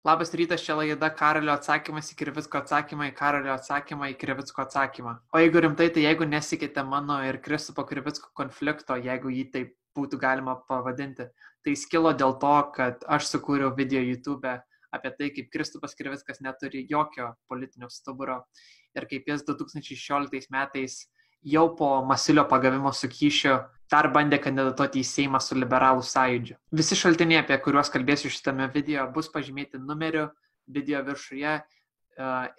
Labas rytas, čia laida Karolio atsakymas į Krivicko atsakymą, į Karolio atsakymą į Krivicko atsakymą. O jeigu rimtai, tai jeigu nesikite mano ir Kristupo Krivicko konflikto, jeigu jį taip būtų galima pavadinti, tai skilo dėl to, kad aš sukūriau video YouTube apie tai, kaip Kristupas Krivickas neturi jokio politinio stuburo ir kaip jis 2016 metais jau po Masiulio pagavimo su kyšiu dar bandė kandidatuoti į Seimą su liberalų sąjūdžiu. Visi šaltiniai, apie kuriuos kalbėsiu šitame video, bus pažymėti numeriu video viršuje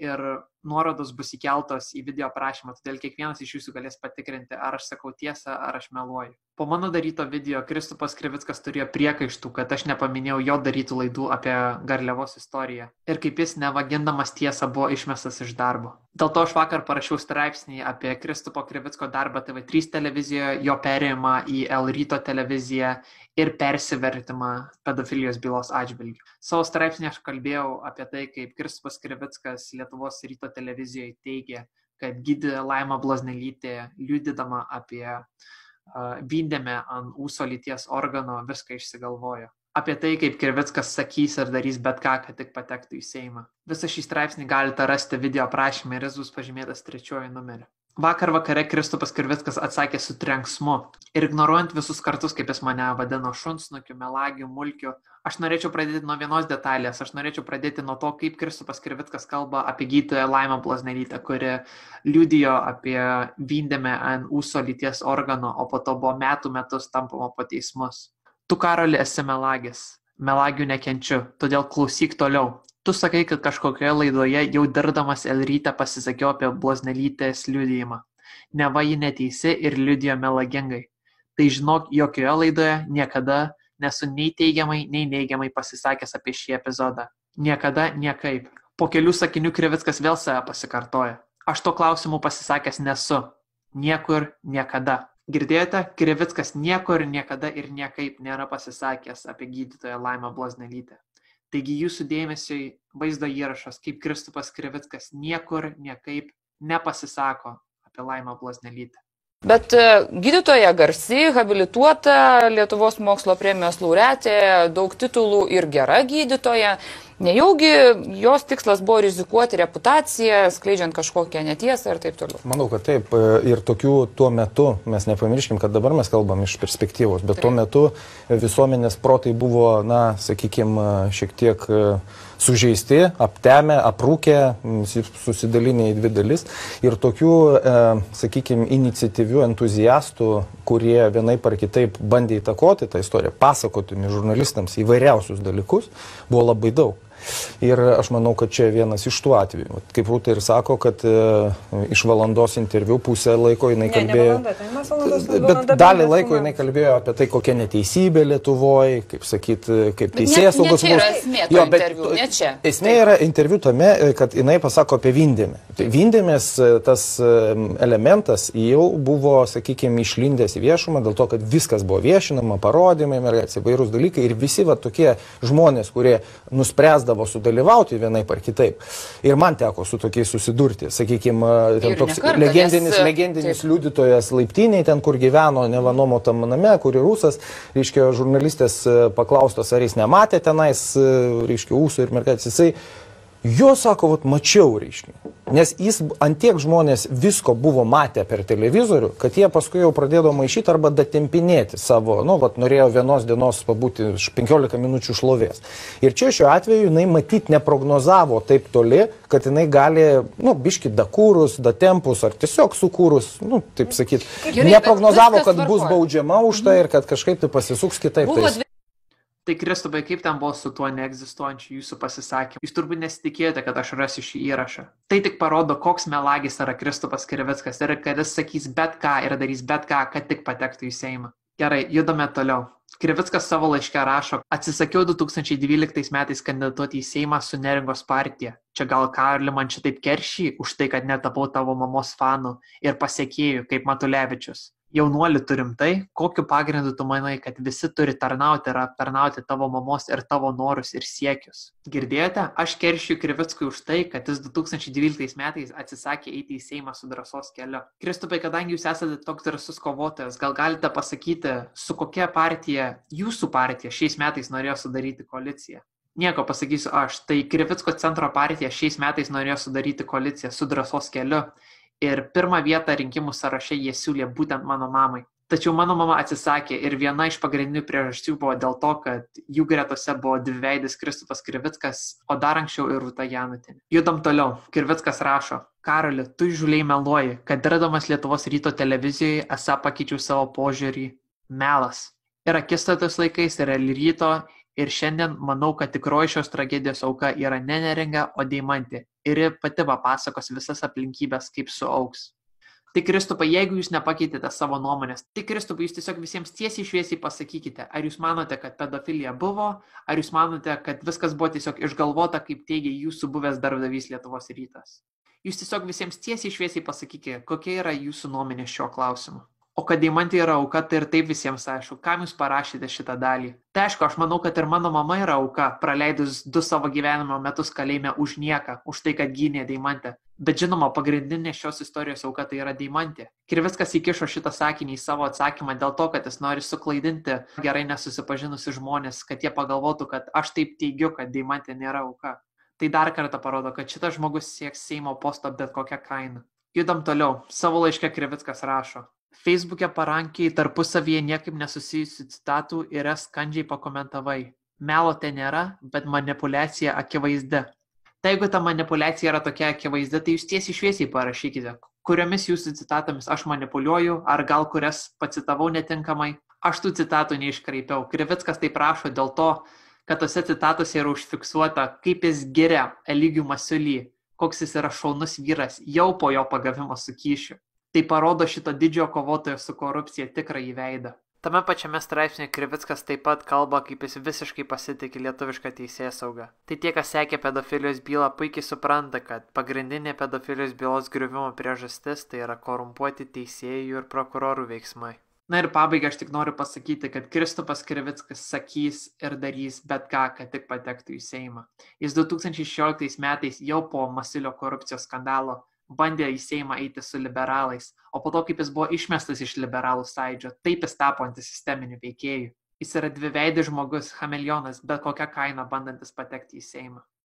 ir nuorodos bus įkeltos į video aprašymą, todėl kiekvienas iš jūsų galės patikrinti, ar aš sakau tiesą, ar aš meluoju. Po mano daryto video Kristupas Krivickas turėjo priekaištų, kad aš nepaminėjau jo darytų laidų apie Garliavos istoriją ir kaip jis nevagindamas tiesą buvo išmestas iš darbo. Dėl to aš vakar parašiau straipsnį apie Kristupo Krivicko darbą TV3 televizijoje, jo perėjimą į L ryto televiziją ir persivertimą pedofilijos bylos atžvilgiu. Savo straipsnį aš kalbėjau apie tai, kaip Kristupas Krivickas Lietuvos ryto televizijoje teigė, kad gydė Laima Blaznelytė, liudydama apie vindėme ant ūso lyties organo, viską išsigalvojo. Apie tai, kaip Krivickas sakys ir darys bet ką, kad tik patektų į Seimą. Visą šį straipsnį galite rasti video aprašymę ir jis bus pažymėtas 3 numeriu. Vakar vakare Kristupas Krivickas atsakė su trenksmu ir ignoruojant visus kartus, kaip jis mane vadino šunsnukiu, melagiu, mulkiu. Aš norėčiau pradėti nuo vienos detalės. Aš norėčiau pradėti nuo to, kaip Kristupas Krivickas kalba apie gydytoją Laimą Blaznelytę, kuri liudijo apie vindėme ant ūso lyties organo, o po to buvo metus tampama po teismus. Tu, Karoli, esi melagis. Melagių nekenčiu, todėl klausyk toliau. Tu sakai, kad kažkokioje laidoje jau dirbdamas L ryte pasisakiau apie Blaznelytės liudijimą. Neva ji neteisi ir liudijo melagingai. Tai žinok, jokioje laidoje niekada nesu nei teigiamai, nei neigiamai pasisakęs apie šį epizodą. Niekada, niekaip. Po kelių sakinių Krivickas vėl save pasikartoja. Aš to klausimu pasisakęs nesu. Niekur, niekada. Girdėjote, Krivickas niekur, niekada ir niekaip nėra pasisakęs apie gydytoją Laimą Blaznelytę. Taigi jūsų dėmesiui vaizdo įrašas, kaip Kristupas Krivickas niekur, niekaip nepasisako apie Laimą Blaznelytę. Bet gydytoja garsi, habilituota, Lietuvos mokslo premijos laureatė, daug titulų ir gera gydytoja. Nejaugi jos tikslas buvo rizikuoti reputaciją, skleidžiant kažkokią netiesą ir taip toliau. Manau, kad taip. Ir tokių tuo metu, mes nepamirškim, kad dabar mes kalbam iš perspektyvos, bet tuo metu visuomenės protai buvo, na, sakykime, šiek tiek sužeisti, aptemę, aprūkę, susidalinę į dvi dalis. Ir tokių, sakykime, iniciatyvių entuziastų, kurie vienaip ar kitaip bandė įtakoti tą istoriją, pasakoti žurnalistams įvairiausius dalykus, buvo labai daug. Ir aš manau, kad čia vienas iš tų atvejų. Kaip Rūta ir sako, kad iš valandos interviu pusę laiko jinai kalbėjo... Bet dalį laiko jinai kalbėjo apie tai, kokia neteisybė Lietuvoje, kaip sakyti, kaip teisėsaugos... Ne čia yra esmė to interviu, ne čia. Esmė yra interviu tame, kad jinai pasako apie vindėmę. Vindėmės tas elementas jau buvo, sakykime, išlindęs į viešumą, dėl to, kad viskas buvo viešinama, parodymai, mergaitės, įvairūs dalykai ir visi va tokie žmonės, kurie nuspręsdavo sudalyvauti vienaip ar kitaip. Ir man teko su tokiais susidurti. Sakykime, ten toks legendinis liudytojas laiptiniai, ten kur gyveno nevanomotam name, kuri rusas, reiškia, žurnalistės paklaustas, ar jis nematė tenais, reiškia, ūsų ir mergaitės, jisai jo sako, vat, mačiau, reiškia. Nes jis antiek žmonės visko buvo matę per televizorių, kad jie paskui jau pradėjo maišyti arba datempinėti savo, nu, vat, norėjo vienos dienos pabūti 15 minučių šlovės. Ir čia šiuo atveju jinai matyt neprognozavo taip toli, kad jinai gali, nu, biški dakūrus, datempus ar tiesiog sukūrus, nu, taip sakyti, neprognozavo, kad bus baudžiama už tai ir kad kažkaip tai pasisuks kitaip. Tai Kristupai, kaip ten buvo su tuo neegzistuojančiu jūsų pasisakymu? Jūs turbūt nesitikėjote, kad aš rasiu šį įrašą. Tai tik parodo, koks melagis yra Kristupas Krivickas ir kad jis sakys bet ką ir darys bet ką, kad tik patektų į Seimą. Gerai, judame toliau. Krivickas savo laiške rašo, atsisakiau 2012 metais kandidatuoti į Seimą su Neringos partija. Čia gal Karli man šitaip keršį už tai, kad netapau tavo mamos fanų ir pasiekėjų kaip Matulevičius. Jaunuoli turim tai, kokiu pagrindu tu manai, kad visi turi tarnauti ir aptarnauti tavo mamos ir tavo norus ir siekius. Girdėjote? Aš keršiu Krivickui už tai, kad jis 2012 metais atsisakė eiti į Seimą su drąsos keliu. Kristupai, kadangi jūs esate toks drąsus kovotojas, gal galite pasakyti, su kokia partija, jūsų partija, šiais metais norėjo sudaryti koaliciją? Nieko pasakysiu aš, tai Krivicko centro partija šiais metais norėjo sudaryti koaliciją su Drąsos keliu ir pirmą vietą rinkimų sąraše jie siūlė būtent mano mamai. Tačiau mano mama atsisakė ir viena iš pagrindinių priežasčių buvo dėl to, kad jų gretose buvo dviveidis Kristupas Krivickas, o dar anksčiau ir Rūta Janutinė. Judam toliau. Krivickas rašo: Karoli, tu įžūliai meluoji, kad dirbdamas Lietuvos ryto televizijoje esą pakeičiau savo požiūrį. Melas. Ir akistatos laikais yra ryto ir šiandien manau, kad tikroji šios tragedijos auka yra ne Neringa, o Deimantė. Ir ji pati papasakos visas aplinkybės, kaip suaugs. Tai Kristupai, jeigu jūs nepakeitėte savo nuomonės, tai Kristupai, jūs tiesiog visiems tiesiai šviesiai pasakykite, ar jūs manote, kad pedofilija buvo, ar jūs manote, kad viskas buvo tiesiog išgalvota, kaip teigia jūsų buvęs darbdavys Lietuvos rytas. Jūs tiesiog visiems tiesiai šviesiai pasakykite, kokia yra jūsų nuomonė šiuo klausimu. O kad Deimantė yra auka, tai ir taip visiems aišku, kam jūs parašėte šitą dalį. Tai aišku, aš manau, kad ir mano mama yra auka, praleidus 2 savo gyvenimo metus kalėjime už nieką, už tai, kad gynė Deimantę. Bet žinoma, pagrindinė šios istorijos auka tai yra Deimantė. Krivickas įkišo šitą sakinį į savo atsakymą dėl to, kad jis nori suklaidinti gerai nesusipažinusi žmonės, kad jie pagalvotų, kad aš taip teigiu, kad Deimantė nėra auka. Tai dar kartą parodo, kad šitas žmogus sieks Seimo posto bet kokią kainą. Judam toliau. Savo laiške Krivickas rašo: Facebook'e parankiai tarpusavyje niekaip nesusijusių citatų ir skandžiai pakomentavai. Melo ten nėra, bet manipuliacija akivaizdi. Tai jeigu ta manipuliacija yra tokia akivaizdi, tai jūs tiesiai šviesiai parašykite, kuriomis jūsų citatomis aš manipuliuoju, ar gal kurias pacitavau netinkamai. Aš tų citatų neiškraipiau. Krivickas tai prašo dėl to, kad tose citatose yra užfiksuota, kaip jis giria Eligijų Masiulį, koks jis yra šaunus vyras jau po jo pagavimo su kyšiu. Tai parodo šito didžiojo kovotojo su korupcija tikrąjį veidą. Tame pačiame straipsnėje Krivickas taip pat kalba, kaip jis visiškai pasitikė lietuvišką teisėsaugą. Tai tie, kas sekė pedofilijos bylą, puikiai supranta, kad pagrindinė pedofilijos bylos griuvimo priežastis tai yra korumpuoti teisėjų ir prokurorų veiksmai. Na ir pabaigai aš tik noriu pasakyti, kad Kristupas Krivickas sakys ir darys bet ką, kad tik patektų į Seimą. Jis 2016 metais jau po Masiulio korupcijos skandalo bandė į Seimą eiti su liberalais, o po to, kaip jis buvo išmestas iš liberalų sąjūdžio, taip jis tapo antisisteminiu veikėju. Jis yra dviveidis žmogus, chameleonas, bet kokią kainą bandantis patekti į Seimą.